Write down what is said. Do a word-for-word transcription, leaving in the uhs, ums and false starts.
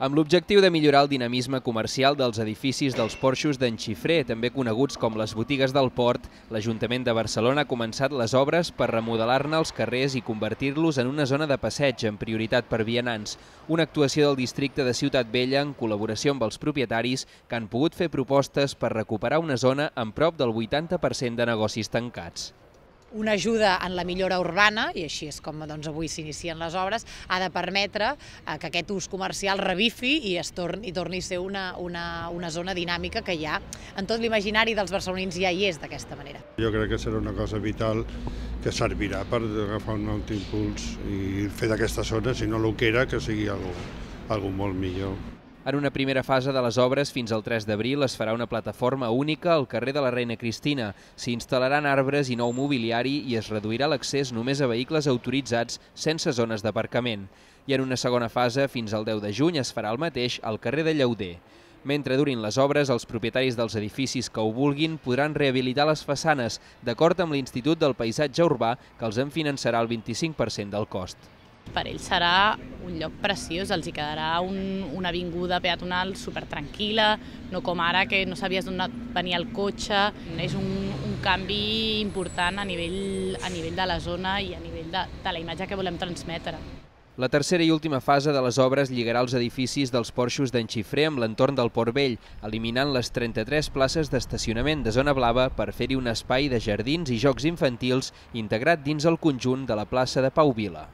Amb l'objectiu de millorar el dinamisme comercial dels edificis dels porxos d'en Xifré, també coneguts com les botigues del port, l'Ajuntament de Barcelona ha començat les obres per remodelar-ne els carrers i convertir-los en una zona de passeig amb prioritat per vianants. Una actuació del districte de Ciutat Vella en col·laboració amb els propietaris que han pogut fer propostes per recuperar una zona amb prop del vuitanta per cent de negocis tancats. Una ajuda en la millora urbana, i així és com doncs, avui s'inicien les obres, ha de permetre eh, que aquest ús comercial revifi i, es torni, i torni a ser una, una, una zona dinàmica que ja en tot l'imaginari dels barcelonins ja hi és d'aquesta manera. Jo crec que serà una cosa vital que servirà per agafar un altre impuls i fer d'aquesta zona, si no el que era, que sigui algo molt millor. En una primera fase de les obres, fins al tres d'abril, es farà una plataforma única al carrer de la Reina Cristina. S'hi instal·laran arbres i nou mobiliari i es reduirà l'accés només a vehicles autoritzats sense zones d'aparcament. I en una segona fase, fins al deu de juny, es farà el mateix al carrer de Llauder. Mentre durin les obres, els propietaris dels edificis que ho vulguin podran rehabilitar les façanes, d'acord amb l'Institut del Paisatge Urbà, que els en finançarà el vint-i-cinc per cent del cost. Per ells serà un lloc preciós, els hi quedarà un, una avinguda peatonal supertranquil·la, no com ara que no sabies d'on venia el cotxe. És un, un canvi important a nivell, a nivell de la zona i a nivell de, de la imatge que volem transmetre. La tercera i última fase de les obres lligarà els edificis dels porxos d'en Xifré amb l'entorn del Port Vell, eliminant les trenta-tres places d'estacionament de zona blava per fer-hi un espai de jardins i jocs infantils integrat dins el conjunt de la plaça de Pau Vila.